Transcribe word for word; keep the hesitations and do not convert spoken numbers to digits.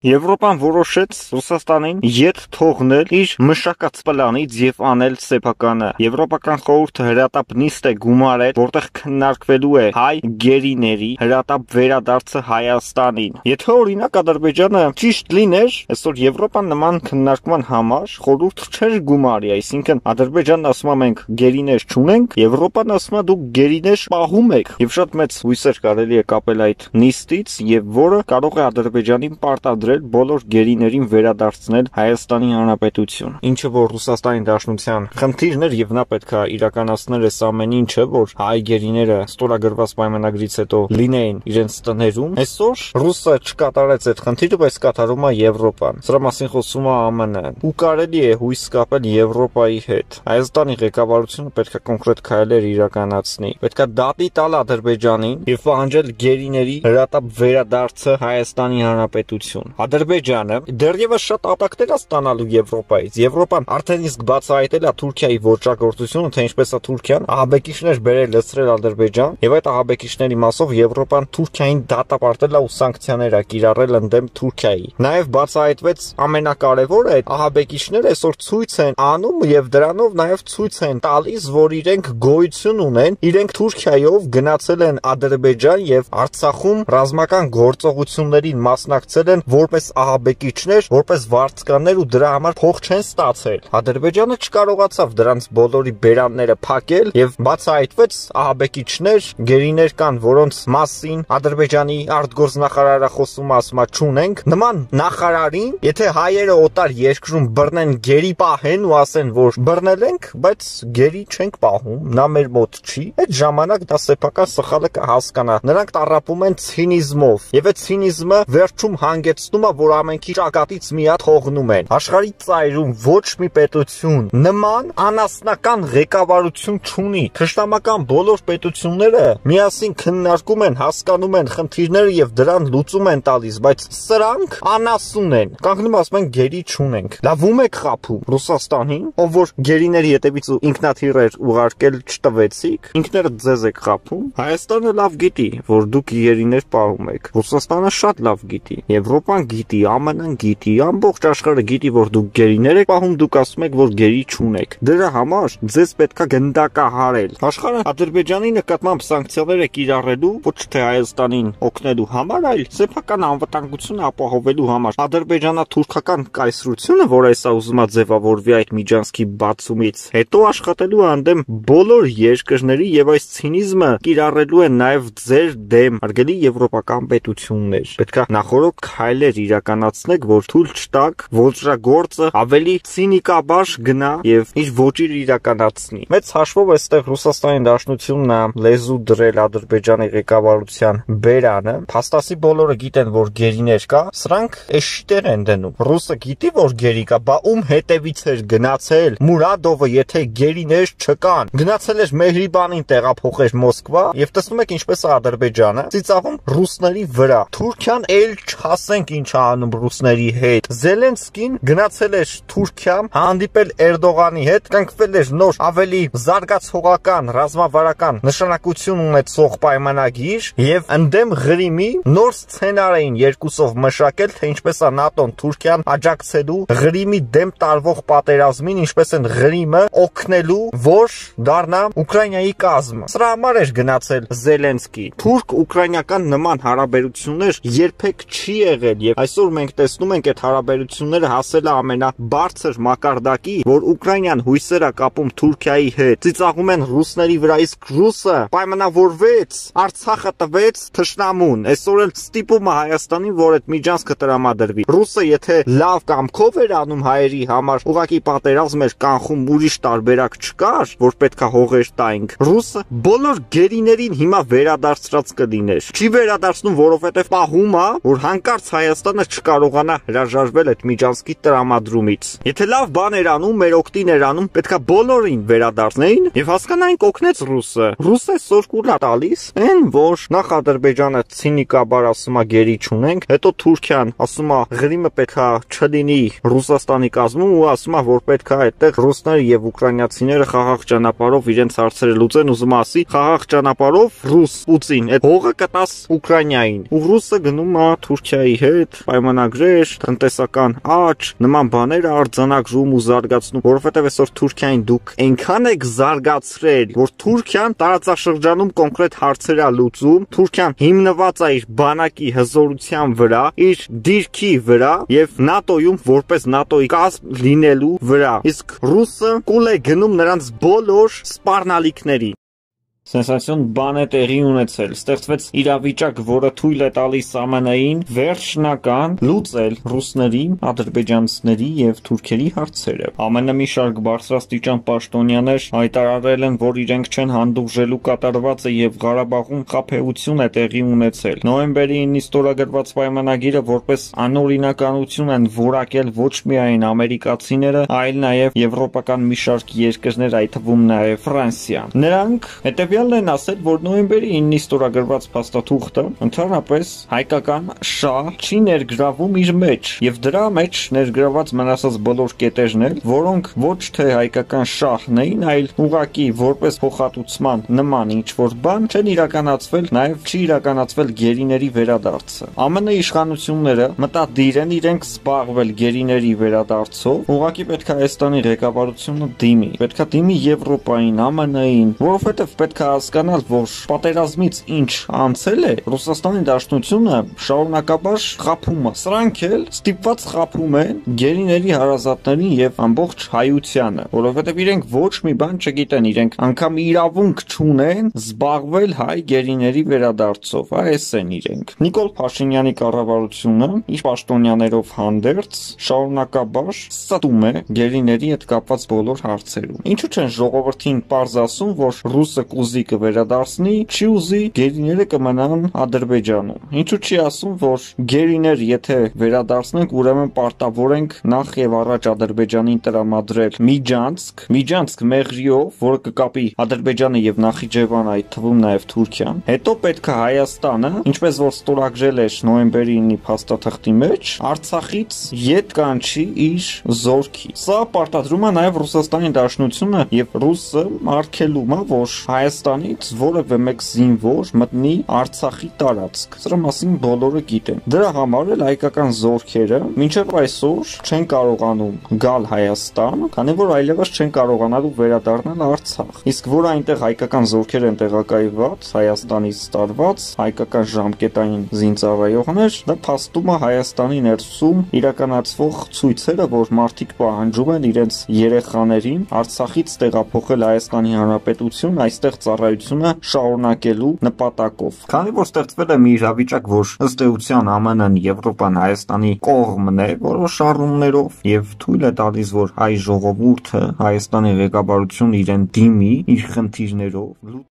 Եվրոպան որոշեց Ռուսաստանին ետ թողնել իր մշակած պլանից եւ անել սեփականը։ Եվրոպական խորհուրդը հրատապ նիստ է գումարել, որտեղ քննարկվելու է հայ գերիների հրատապ վերադարձը Հայաստանին։ Եթե օրինակ Ադրբեջանը ճիշտ լիներ, այսօր Եվրոպան նման քննարկման համար խորհուրդ չէր գումարի, այսինքն Ադրբեջանն ասում է մենք գերիներ չունենք, Եվրոպան ասում է դուք գերիներ պահում եք, եւ շատ մեծ հույսեր կարելի է կապել այդ նիստից, եւ որը կարող է Ադրբեջանին պարտադրել բոլոր գերիներին վերադարձնել Հայաստանի Հանրապետություն, ինչը որ Ռուսաստանի Դաշնության խնդիրն էր եւ նա պետք է իրականացնել այս ամեն ինչը, որ հայ գերիները ստորագրված պայմանագրից հետո լինեին իրենց տներում։ Այսօր Ռուսը չկատարեց այդ խնդիրը, բայց կատարում է Եվրոպան։ Սրա մասին խոսում է ԱՄՆ-ն։ Ու կարելի է հույս կապել Եվրոպայի հետ։ Հայաստանի ղեկավարությունը պետք է կոնկրետ քայլեր իրականացնի։ Պետք է դատի տալ Ադրբեջանին եւ պահանջել գերիների հրատապ վերադարձը Հայաստանի Հանրապետություն։ Ադրբեջանը դեռևս շատ ապակներ է ստանալու Եվրոպայից։ Եվրոպան արդեն իսկ բացահայտել է Թուրքիայի ոճրագործությունը, թե ինչպես է Թուրքիան ահաբեկիչներ բերել լցրել Ադրբեջան, եւ այդ ահաբեկիչների մասով Եվրոպան Թուրքիային դատապարտել է ու սանկցիաներ է կիրառել ընդդեմ Թուրքիայի։ Նաեւ բացահայտվեց ամենակարևորը, այդ ահաբեկիչները այսօր ցույց են անում եւ դրանով նաեւ ցույց են տալիս, որ իրենք գոյություն ունեն, իրենք Թուրքիայով գնացել են Ադրբեջան եւ Արցախում ռազմական գործողություններին մասնակցել են որպես ահաբեկիչներ, որպես վարձկաններ ու դրա համար փող չեն ստացել։ Ադրբեջանը չկարողացավ դրանց բոլորի բերանները փակել եւ բացահայտվեց ահաբեկիչներ, գերիներ կան, որոնց մասին Ադրբեջանի արտգործնախարարը խոսում է, ասում է չունենք։ Նման նախարարին, եթե հայերը օտար երկրում բռնեն, գերի պահեն ու ասեն, որ բռնել ենք, բայց գերի չենք պահում, նա մեր մոտ չի, այդ ժամանակ դա սեփական սխալը կհասկանա։ Նրանք տառապում են ցինիզմով եւ այդ ցինիզմը վերջում հանգեցնում է, որ ամենքի ճակատից մի հատ թողնում են։ Աշխարհի ծայրում ոչ մի պետություն նման անասնական ղեկավարություն չունի։ Թշնամական բոլոր պետությունները միասին քննարկում են, հասկանում են խնդիրները եւ դրան լուծում են տալիս, բայց սրանք անասուն են։ Կանգնում ասում են գերի չունենք։ Լավում եք խափում Ռուսաստանին, ով որ գերիների հետևից ու ինքնաթիռեր ուղարկել չտվեցիք, ինքներդ ձեզ եք խափում։ Հայաստանը լավ գիտի, որ դուք գերիներ պահում եք։ Ռուսաստանը շատ լավ գիտի։ Եվրոպան գիտի, ԱՄՆ-ն գիտի, ամբողջ աշխարհը գիտի, որ դուք գերիներ եք պահում, դուք ասում եք, որ գերի չունեք։ Դրա համար ձեզ պետքա գնդակահարել։ Աշխարհը Ադրբեջանի նկատմամբ սանկցիաներ է կիրառելու ոչ թե Հայաստանին օգնելու համար, այլ սեփական անվտանգությունը ապահովելու համար։ Ադրբեջանա-թուրքական կայսրությունը, որ այսա ուզում է ձևավորվի այդ միջանցքի բացումից հետո, աշխատելու է ընդդեմ բոլոր երկրների եւ այս ցինիզմը կիրառելու է նաեւ ձեր դեմ, արգելի եվրոպական պետություններ։ Պետք է նախորդ քայլեր իրականացնեք, որ թույլ չտաք ոճրագործը ավելի ցինիկաբար գնա եւ իր ոճիր իրականացնի։ Մեծ հաշվով այստեղ Ռուսաստանի Դաշնությունն է լեզու դրել Ադրբեջանի ղեկավարության բերանը։ Փաստացի բոլորը գիտեն, որ գերիներ կա, սրանք էշիտեր են դնում։ Ռուսը գիտի, որ գերի կա, բա ում հետևից էր գնացել Մուրադովը, եթե գերիներ չկան։ Գնացել էր Մեհրիբանին տեղափոխել Մոսկվա եւ տեսնում եք ինչպես է Ադրբեջանը ծիծաղում ռուսների վրա։ Թուրքիան էլ չհասենք ինչ է անում ռուսների հետ։ Զելենսկին գնացել էր Թուրքիա, հանդիպել Էրդողանի հետ, կնքվել էր նոր ավելի զարգացողական ռազմավարական նշանակություն ունեցող պայմանագիր եւ ընդդեմ Ղրիմի նոր սցենար էին երկուսով մշակել, թե ինչպես է ՆԱՏՕ-ն Թուրքիան աջակցելու Ղրիմի դեմ տարվող պատերազմին, ինչպես են Ղրիմը օգնելու, որ դառնա Ուկրաինայի կազմը։ Սրա համար էր գնացել Զելենսկի։ Թուրք-ուկրաինական նման հարաբերություններ երբեք չի եղել եւ այսօր մենք տեսնում ենք այդ հարաբերությունները հասել է ամենաբարձր մակարդակի, որ Ուկրաինան հույսեր է կապում Թուրքիայի հետ։ Ծիծաղում են ռուսների վրա, իսկ ռուսը պայմանավորվեց, Արցախը տվեց թշնամուն։ Այսօր էլ ստիպում է Հայաստանին, որ այդ միջանցքը տրամադրվի։ Ռուսը եթե լավ կամքով էր անում հայերի համար, ուղղակի պատերազմ էր կանխում, ուրիշ տարբերակ չկար, որ պետքա հողեր տայինք։ Ռուսը բոլոր գերիներին հիմա վերադարձրած կլիներ։ Չի վերադարձնում, որովհետև պահում է, որ հանկարծ Հայաստանը չկարողանա հրաժարվել այդ միջանցքի տրամադրումից։ Եթե լավ բան էր անում, մեր օգտին էր անում, պետքա բոլորին վերադարձնեին եւ հասկանային կօգնեց ռուսը։ Ռուսը այսօր կուր է տալիս, այն որ նախ Ադրբեջանը ցինիկաբար ասում է գերի չունենք, հետո Թուրքիան ասում է Ղրիմը պետքա չլինի Ռուսաստանի կազմում ու ասում է, որ պետքա այդտեղ ռուսները եւ ուկրաինացիները խաղաղ ճանապարհով իրենց հարցերը լուծեն, ուզում ասի խաղաղ ճանապարհով ռուս Պուտին այդ հողը կտաս Ուկրաինային։ Ու ռուսը գնում է Թուրքիայի հետ շատ պայմանագրեր, տնտեսական աճ, նման բաներ արձանագրում ու զարգացնում, որովհետև այսօր Թուրքիային դուք այնքան եք զարգացրել, որ Թուրքիան տարածաշրջանում կոնկրետ հարցեր է լուծում, Թուրքիան հիմնված է իր բանակի հզորության վրա, իր դիրքի վրա եւ ՆԱՏՕ-ում որպես ՆԱՏՕ-ի կազմ լինելու վրա, իսկ ռուսը կուլ է գնում նրանց բոլոր սպառնալիքների։ Սենսացիոն բան է տեղի ունեցել, ստեղծվեց իրավիճակ, որը թույլ է տալիս ԱՄՆ-ին վերջնական լուծել ռուսների, ադրբեջանցիների եւ թուրքերի հարցերը։ ԱՄՆ-ը մի շարք բարձրաստիճան պաշտոնյաներ հայտարարել են, որ իրենք չեն հանդուրժելու կատարվածը եւ Ղարաբաղում խաբեություն է տեղի ունեցել։ Նոյեմբերի իննին ստորագրված պայմանագիրը որպես անօրինականություն են որակել ոչ միայն ամերիկացիները, այլ նաեւ եվրոպական մի շարք երկրներ, այդ թվում նաեւ Ֆրանսիան։ Նրանք հետեւյալ են ասել, որ նոյեմբերի իննին ստորագրված փաստաթուղթը ընդհանրապես հայկական շահ չի ներգրավում իր մեջ եւ դրա մեջ ներգրաված մնացած բոլոր կետերն էլ, որոնք ոչ թե հայկական շահն էին, այլ ուղղակի որպես փոխհատուցման նման ինչ-որ բան չեն իրականացվել, նաեւ չի իրականացվել գերիների վերադարձը։ ԱՄՆ իշխանությունները մտադիր են իրենք զբաղվել գերիների վերադարձով, ուղղակի պետք է Հայաստանի ղեկավարությունը դիմի, պետք է դիմի Եվրոպային, ԱՄՆ-ին, որովհետեւ պետք է հասկանալ, որ պատերազմից ինչ անցել է, Ռուսաստանի Դաշնությունը շարունակաբար խաբում է։ Սրանք էլ ստիպված խաբում են գերիների հարազատներին եւ ամբողջ հայությանը, որովհետեւ իրենք ոչ մի բան չգիտեն, իրենք անգամ իրավունք չունեն զբաղվել հայ գերիների վերադարձով, այս են իրենք։ Նիկոլ Փաշինյանի կառավարությունը իր պաշտոնյաներով հանդերձ շարունակաբար ստում է գերիների հետ կապված բոլոր հարցերում։ Ինչու՞ չեն ժողովրդին պարզ ասում, որ ռուսը կուզի կվերադարձնի, չի ուզի գերիները կմնան Ադրբեջանում։ Ինչու՞ չի ասում, որ գերիներ եթե վերադարձնենք, ուրեմն պարտավոր ենք նախ եւ առաջ Ադրբեջանին տրամադրել Միջանցք, Միջանցք մեղրիով, որը կկապի Ադրբեջանը եւ Նախիջևանը, այդ թվում նաեւ Թուրքիան։ Հետո պետք է Հայաստանը, ինչպես որ ստորագրել էր նոյեմբերի իննի փաստաթղթի մեջ, Արցախից ետ կանչի իր զորքի։ Սա պարտադրում է նաեւ Ռուսաստանի Դաշնությունը եւ ռուսը արգելում է, որ Հայաստանից որևէ մեկ զինվոր մտնի Արցախի տարածք։ Սրա մասին բոլորը գիտեն։ Դրա համար էլ հայկական զորքերը մինչև այսօր չեն կարողանում գալ Հայաստան, քանի որ այլևս չեն կարողանալու վերադառնալ Արցախ։ Իսկ որ այնտեղ հայկական զորքեր են տեղակայված, Հայաստանից տարված հայկական ժամկետային զինծառայողներ, դա փաստում է Հայաստանի ներսում իրականացվող ցույցերը, որ մարդիկ պահանջում են իրենց երեխաներին Արցախից տեղափոխել Հայաստանի Հանրապետություն, այստեղ ծառայությունը շարունակելու նպատակով։ Քանի որ ստեղծվել է մի իրավիճակ, որ ըստ էության ԱՄՆ-ն, Եվրոպան Հայաստանի կողմն է որոշ առումներով եւ թույլ է տալիս, որ հայ ժողովուրդը Հայաստանի ղեկավարությունը իրեն դիմի իր խնդիրներով